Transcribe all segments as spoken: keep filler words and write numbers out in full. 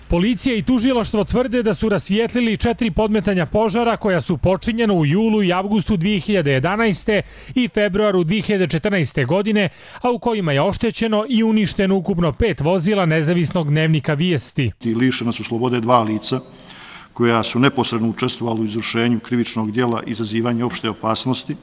Policija i tužilaštvo tvrde da su rasvijetlili četiri podmetanja požara koja su počinjena u julu i avgustu dvije hiljade jedanaeste. i februaru dvije hiljade četrnaeste. godine, a u kojima je oštećeno i uništeno ukupno pet vozila nezavisnog dnevnika Vijesti. Lišena su slobode dva lica koja su neposredno učestvovala u izvršenju krivičnog djela izazivanja opšte opasnosti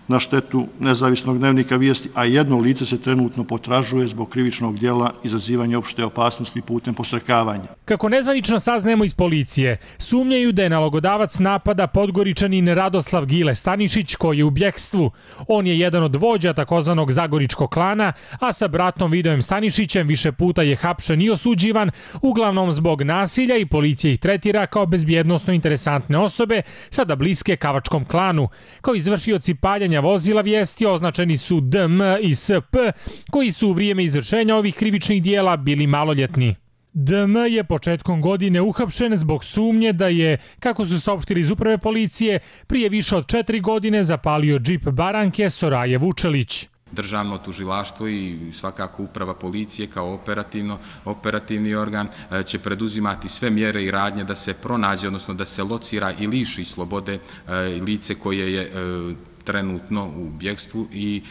na štetu nezavisnog dnevnika Vijesti, a jedno lice se trenutno potražuje zbog krivičnog djela izazivanja opšte opasnosti putem posrekavanja. Kako nezvanično saznajemo iz policije, sumnjaju da je nalogodavac napada Podgoričanin Radoslav Gile Stanišić, koji je u bjekstvu. On je jedan od vođa takozvanog Zagoričkog klana, a sa bratom Vidojem Stanišićem više puta je hapšen i osuđivan, uglavnom zbog nasilja, i policija ih tretira kao bezbjednosno interesantne osobe, sada bliske Kavačkom klanu. Kao izvršioci paljenja vozila Vijesti označeni su D M i S P, koji su u vrijeme izvršenja ovih krivičnih dijela bili maloljetni. D M je početkom godine uhapšen zbog sumnje da je, kako su saopštili iz uprave policije, prije više od četiri godine zapalio džip Baranke Soraje Vučelić. Državno tužilaštvo i svakako uprava policije kao operativno, operativni organ će preduzimati sve mjere i radnje da se pronađe, odnosno da se locira i liši slobode lice koje je trenutno u bjekstvu i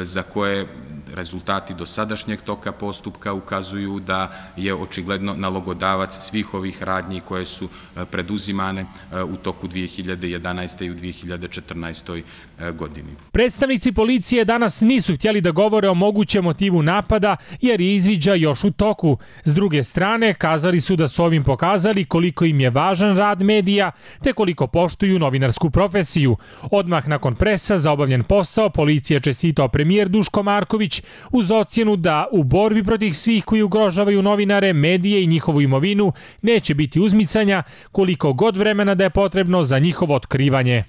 za koje rezultati dosadašnjeg toka postupka ukazuju da je očigledno nalogodavac svih ovih radnji koje su preduzimane u toku dvije hiljade jedanaeste. i u dvije hiljade četrnaestoj. godini. Predstavnici policije danas nisu htjeli da govore o mogućem motivu napada jer je izviđaj još u toku. S druge strane, kazali su da su ovim pokazali koliko im je važan rad medija te koliko poštuju novinarsku profesiju. Odmah nakon presa za obavljen posao, policija čestitao premijer Duško Marković uz ocjenu da u borbi protiv svih koji ugrožavaju novinare, medije i njihovu imovinu neće biti uzmicanja koliko god vremena da je potrebno za njihovo otkrivanje.